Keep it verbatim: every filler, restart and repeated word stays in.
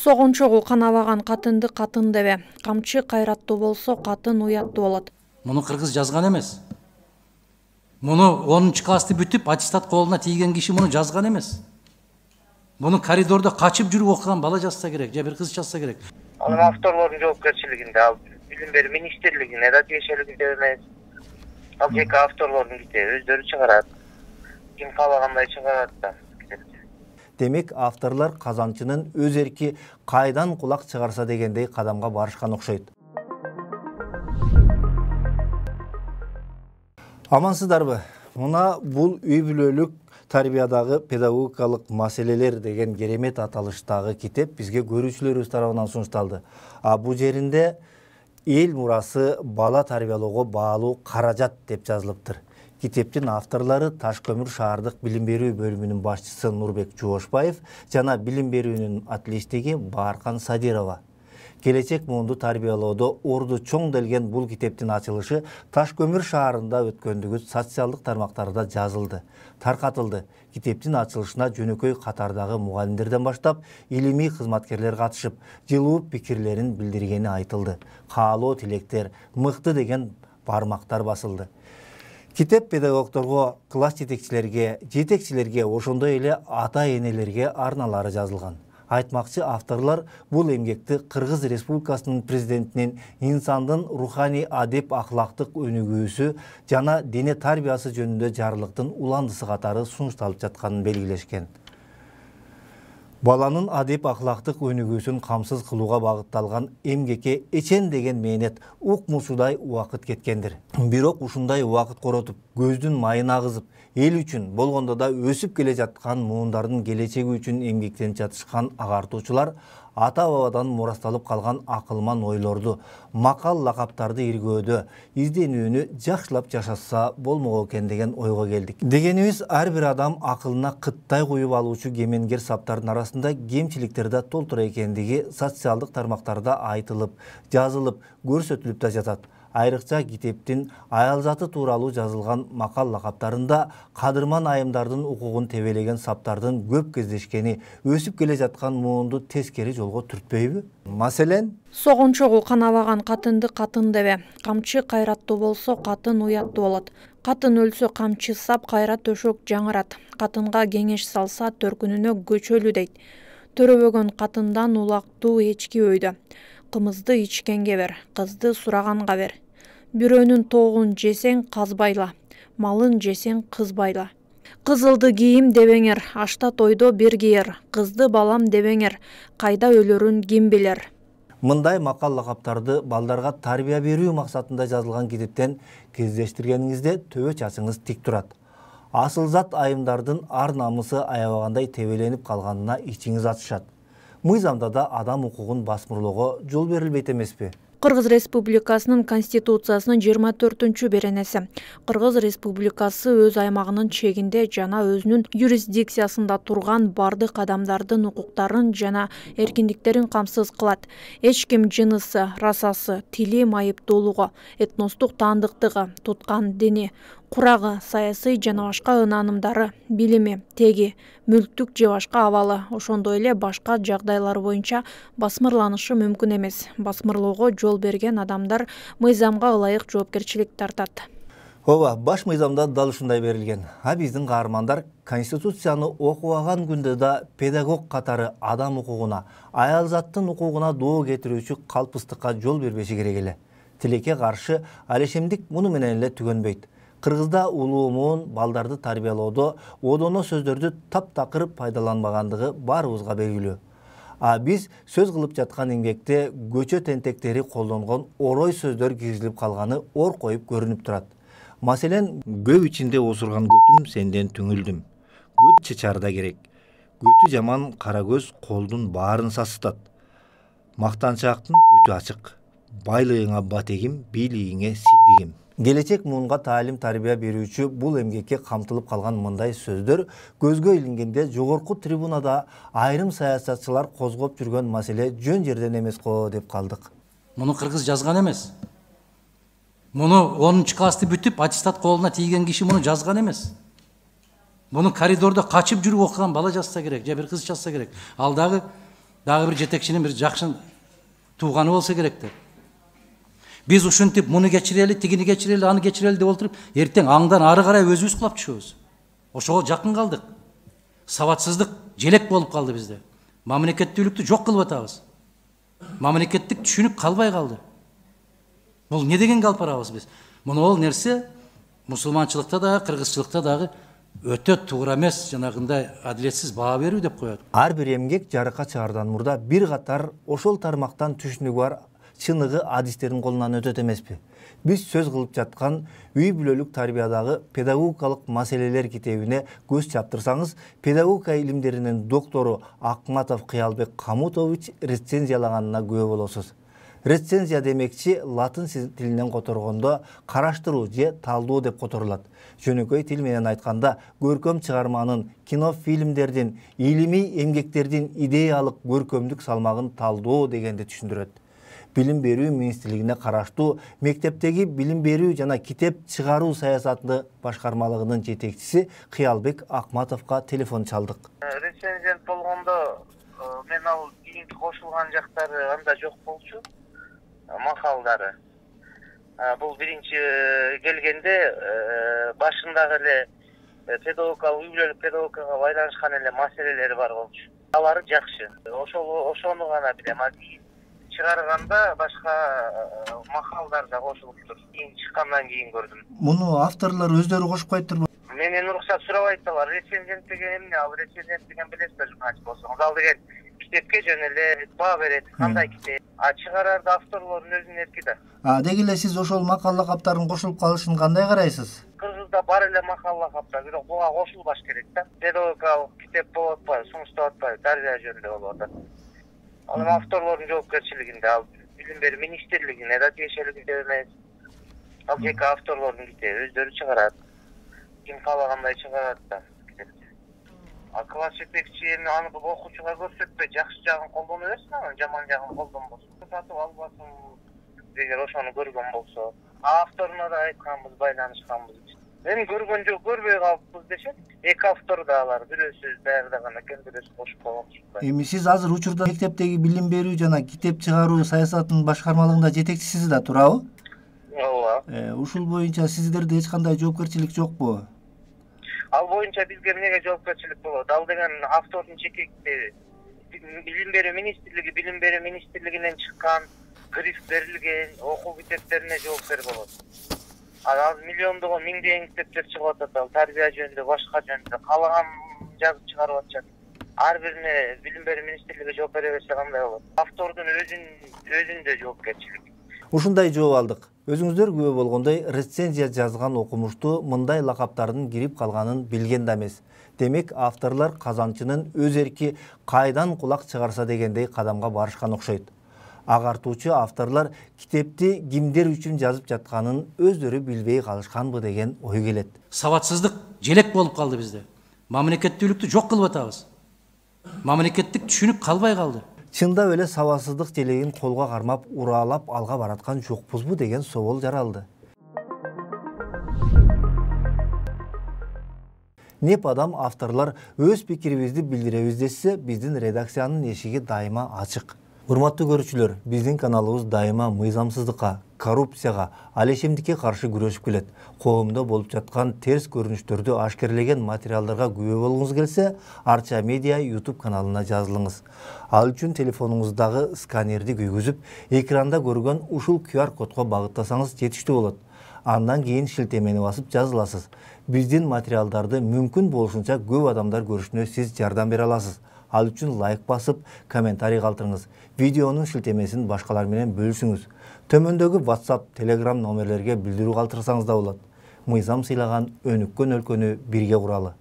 Согончогу канабаган катынды катын дебе. Камчы кайраттуу болсо катын уяттуу болот. Муну кыргыз жазган эмес. Муну онунчу классты бүтүп аттестат колуна тийген киши муну жазган эмес. Муну коридордо качып жүрүп окуган бала жазса керек, же бир кыз жазса керек. Анын авторлордун жоопкерчилигинде, ал билим берүү министрлигине да тиешелигинде эмес. Ал жеке авторлордун китеби өздөрү чыгарат. Ким каалагандай чыгарат да. Демек, авторлор казанчынын өз эрки кайдан кулак чыгарса дегендей кадамга барышкан окшойт. Амансыздарбы? Мына бул үй бүлөлүк тарбиядагы педагогикалык маселелер деген керемет аталыштагы китеп бизге көрүүчүлөрүбүз тарабынан сунушталды. А бул жеринде эл мурасы бала тарбиялоого баалуу каражат деп жазылыптыр. Китептин авторлору Таш көмүр шаардык билим берүү бөлүмүнүн башчысы Нурбек Жуошбаев жана билим берүүнүн атлештиги Бааркан Садирова. Келечек муунду тарбиялоодо орду чоң делген бул китептин ачылышы Таш көмүр шаарында өткөндүгү социалдык тармактарда жазылды, таркатылды. Китептин ачылышына жөнөкөй катардагы мугалимдерден баштап илимий кызматкерлер катышып, жылуу пикирлерин билдиргени айтылды. Каалоо тилектер, мыкты деген бармактар басылды. Китеп педагогдорго, класс жетекчилерге, жетекчилерге, ошондой эле ата-энелерге арналары жазылган. Айтмакчы авторлор бул эмгекти Кыргыз Республикасынын президентинин инсандын руханий адеп ахлактык өнүгүүсү жана дене тарбиясы жөнүндө жарлыктын уландысы катары сунушталып жатканын белгилешкен. Баланын адеп ахлактык өнүгүүсүн камсыз кылууга багытталган эмгекке эчен деген мээнет укмусудай убакыт кеткендир. Бирок ушундай убакыт коротуп, көздүн майын агызып, эл үчүн болгондо да өсүп келе жаткан муундардын келечеги үчүн эмгектенип жатышкан агартуучулар ата-бабадан мурасталып калган акылман ойлорду, макал лакаптарды иргөөдө, изденүүнү жакшылап жашаса болмок экен деген ойго келдик. Дегенибиз, ар бир адам акылына кыттай куюп алуучу кемеңгер саптардын арасында кемчиликтер да толтура экендиги социалдык тармактарда айтылып, жазылып, көрсөтүлүп да жатат. Айрыкча китептин аял заты тууралуу жазылган макал лакаптарында кадырман айымдардын укугун тебелеген саптардын көп кездешкени өсүп келе жаткан муунду тескери жолго түртпөйбү? Маселен, Согончогу канабаган катынды катын дебе. Камчы кайраттуу болсо катын уяттуу болот. Катын өлсө камчы сап, кайра төшөк жаңырат. Катынга кеңеш салса төркүнүнө көчөлү дейт. Төрөбөгөн катындан улактуу эчки өйдө. Кымызды ичкенге бер, кызды сураганга бер. Бирөөнүн тоогун жесең казбайла, малын жесең кызбайла. Кызылды кийим дебеңер, ашта тойдо бир кийер. Кызды балам дебеңер, кайда өлөрүн ким билер. Мындай макал лакаптарды балдарга тарбия берүү максатында жазылган китептен кездештиргениңизде төбө чачыңыз тик турат. Асыл зат айымдардын ар намысы аябагандай тебеленип калганына ичиңиз ачышат. Мыйзамда да адам укугун басмырлоого жол берилбейт эмеспи? Кыргыз Республикасынын Конституциясынын жыйырма төртүнчү беренеси. Кыргыз Республикасы өз аймагынын чегинде жана өзүнүн юрисдикциясында турган бардык адамдардын укуктарын жана эркиндиктерин камсыз кылат. Эч ким жынысы, расасы, тили майыптуулугу, этностук таандыктыгы, туткан дини, курагы, саясий жана башка ынанымдары, билими, теги, мүлктүк же башка абалы, ошондой эле башка жагдайлар боюнча басмырланышы мүмкүн эмес. Басмырлоого жол берген адамдар мыйзамга ылайык жоопкерчилик тартат. Ооба, баш мыйзамда дал ушундай берилген. А биздин каармандар Конституцияны окубаган күндө да педагог катары адам укугуна, аял заттын укугуна доо кетирүүчү калпыстыкка жол бербеши керек эле. Тилекке каршы алешемдик муну менен эле түгөнбөйт. Кыргызда улуу муун балдарды тарбиялоодо одоно сөздөрдү таптакыр пайдаланбагандыгы баарыбызга белгилүү. А биз сөз кылып жаткан эмгекте көчө тентектери колдонгон орой сөздөр киргизилип калганы ор коюп көрүнүп турат. Маселен, көп ичинде осурган көтүм сенден түңүлдүм. Көт чычарда керек. Көтү жаман кара көз колдун баарын сасытат. Мактанчаактын көтү ачык. Байлыгыңа батегим, бийлигиңе сийдигим. Келечек муунга таалим тарбия берүүчү бул эмгекке камтылып калган мындай сөздөр көзгө илингенде жогорку трибунада айрым саясатчылар козгоп жүргөн маселе жөн жерден эмес го деп калдык. Муну кыргыз жазган эмес. Муну онунчу классты бүтүп аттестат колуна тийген киши муну жазган эмес. Муну коридордо качып жүрүп окуган бала жазса керек, же бир кыз жазса керек. Ал дагы дагы бир жетекчинин бир жакшы тууганы болсо керек деп. Биз ушинтип муну кечирели, тигини кечирели, аны кечирели деп отуруп, эртең аңдан ары карай өзүбүз кулап түшөбүз. Ошого жакын калдык. Сабатсыздык желек болуп калды бизде. Мамлекеттүүлүктү жок кылып атабыз. Мамлекеттик түшүнүк калбай калды. Бул не дегенге алып барабыз биз? Муну ол нерсе мусулманчылыкта дагы, кыргызчылыкта дагы өтө туура эмес, жанагындай адилетсиз баа берүү деп коет. Ар бир эмгек жарыкка чыгардан мурда бир катар ошол тармактан түшүнүгү бар чыныгы адистердин колунан өтөт эмеспи? Биз сөз кылып жаткан үй бүлөлүк тарбиядагы педагогикалык маселелер китебине көз чаптырсаңыз, педагогика илимдеринин доктору Акматов Кыялбек Камутович рецензиялаганына күбө болосуз. Рецензия демекчи латын тилинен которгондо караштыруу же талдоо деп которулат. Жөнөкөй тил менен айтканда, көркөм чыгарманын, кино, фильмдердин, илимий эмгектердин идеялык көркөмдүк салмагын талдоо дегенди түшүндүрөт. Билим берүү министрлигине караштуу мектептеги билим берүү жана китеп чыгаруу саясаты башкармалыгынын жетекчиси Кыялбек Акматовго телефон чалдык. Рецензент болгондо мен ал кийинки кошулган жактары анда жок болчу, макалдары. Бул биринчи келгенде башындагы эле педагогикалык, үй бүлөлүк педагогикага байланышкан эле маселелери бар болчу. Алары жакшы. Ошол ошону гана билем. Чыгарганда башка макалдар да кошулуптур. Кийин чыккандан кийин көрдүм. Муну авторлор өздөрү кошуп коюптурбу? Менен уруксат сурабайт алар. Рецензент деген эмне? Ал рецензент деген билесиздер, журналист болсоңуз. Ал деген китепке жөн эле баа берет. Кандай китеп? А чыгарарда авторлордун өзүнүн эрки да. А деги эле сиз ошол макала каптарын кошулуп калышын кандай карайсыз? Кыргызда бар эле макала каптар, бирок буга кошулбаш керек да. Педагогикалык китеп болуп атпайбы, сунуштап атпайбы, тарбия жөнүндө болуп атат. Ал авторлордун жоопкерчилигинде, ал билим берүү министрлигине да тиешелигинде эмес. Ал жеке авторлордун китеби, өздөрү чыгарат. Ким каалагандай чыгарат да китепти. А класс жетекчи эми аны окуучуга көрсөтпөй, жакшы жагын колдоно берсин, анан жаман жагын колдонбосун. Сатып албасын, эгер ошону көргөн болсо. Авторуна да айтканбыз, байланышканбыз. Эми көргөн жок, көрбөй калыппыз дешет. Эки автор да алар, бирөөсү даярдаган экен, бирөөсү кошуп койгон. Эми сиз азыр учурда мектептеги билим берүү жана китеп чыгаруу саясатынын башкармалыгында жетекчисиз да, туурабы? Ооба. Ушул боюнча сиздерде эч кандай жоопкерчилик жокпу? Ал боюнча бизге эмнеге жоопкерчилик болот? Ал деген автордун жеке китеби. Билим берүү министрлиги, билим берүү министрлигинен чыккан, гриф берилген окуу китептерине жоопкер болот. Ал миллиондогон, миңдеген китептер чыгып атат, ал тарбия жөнүндө, башка жөнүндө каалаган жазып чыгарып атышат. Ар бирине билим берүү министрлиги жооп бере берсе кандай болот? Автордун өзүн өзүндө жоопкерчилик. Ушундай жооп алдык. Өзүңүздөр күбө болгондой, рецензия жазган окумуштуу мындай лакаптардын кирип калганын билген да эмес. Демек, авторлор казанчынын өз эрки кайдан кулак чыгарса дегендей кадамга барышкан окшойт. Агартуучу авторлор китепти кимдер үчүн жазып жатканын өздөрү билбей калышканбы деген ой келет. Сабатсыздык желек болуп калды бизде. Мамлекеттүүлүктү жок кылып атабыз. Мамлекеттик түшүнүк калбай калды. Чындап эле сабатсыздык желегин колго кармап, уралап алга бараткан жокпузбу деген собол жаралды. Неп адам авторлор өз пикирибизди билдиребиз десе, биздин редакциянын эшиги дайыма ачык. Урматтуу көрүүчүлөр, биздин каналыбыз дайыма мыйзамсыздыкка, коррупцияга, алешемдикке каршы күрөшүп келет. Коомдо болуп жаткан терс көрүнүштөрдү ашкерлеген материалдарга күбө болгуңуз келсе, Арча Медиа YouTube каналына жазылыңыз. Ал үчүн телефонуңуздагы сканерди күйгүзүп, экранда көргөн ушул ку ар кодго багыттасаңыз жетиштүү болот. Андан кийин шилтемени басып жазыласыз. Биздин материалдарды мүмкүн болушунча көп адамдар көрүшүнө сиз жардам бере аласыз. Ал үчүн лайк басып, комментарий калтырыңыз. Видеонун шилтемесин башкалар менен бөлүшүңүз. Төмөндөгү WhatsApp, Telegram номерлерге билдирүү калтырсаңыз да болот. Мыйзам сыйлаган өнүккөн өлкөнү бирге куралы.